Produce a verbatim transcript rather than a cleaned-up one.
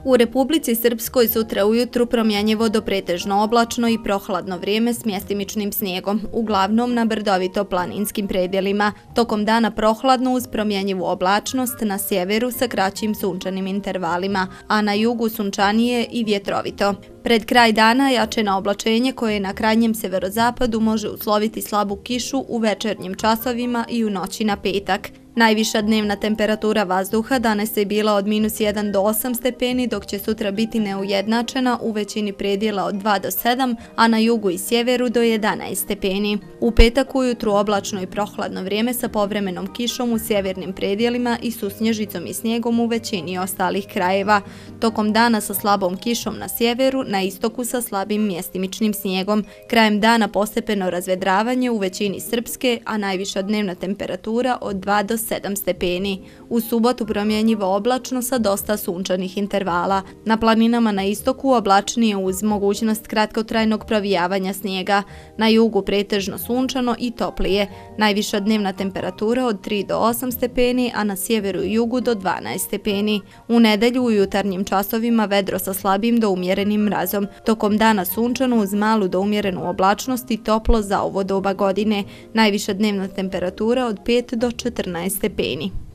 U Republici Srpskoj sutra ujutru promjenjivo do pretežno oblačno i prohladno vrijeme s mjestimičnim snijegom, uglavnom na brdovito planinskim predjelima. Tokom dana prohladno uz promjenjivu oblačnost na sjeveru sa kraćim sunčanim intervalima, a na jugu sunčanije i vjetrovito. Pred kraj dana jačeno oblačenje koje na krajnjem severozapadu može usloviti slabu kišu u večernjim časovima i u noći na petak. Najviša dnevna temperatura vazduha danas je bila od minus jedan do osam stepeni, dok će sutra biti neujednačena u većini predjela od dva do sedam, a na jugu i sjeveru do jedanaest stepeni. U petak ujutru oblačno i prohladno vrijeme sa povremenom kišom u sjevernim predjelima i susnježicom i snijegom u većini ostalih krajeva. Tokom dana sa slabom kišom na sjeveru, na istoku sa slabim mjestimičnim snijegom. Krajem dana postepeno razvedravanje u većini Srpske, a najviša dnevna temperatura od dva do sedam stepeni. U subotu promjenjivo oblačno sa dosta sunčanih intervala. Na planinama na istoku oblačnije uz mogućnost kratkotrajnog provijavanja snijega. Na jugu pretežno sunčano i toplije. Najviša dnevna temperatura od tri do osam stepeni, a na sjeveru i jugu do dvanaest stepeni. U nedelju u jutarnjim časovima vedro sa slabim do umjerenim mrazom. Tokom dana sunčano uz malu do umjerenu oblačnost i toplo za ovo doba godine. Najviša dnevna temperatura od pet do četrnaest stepeni.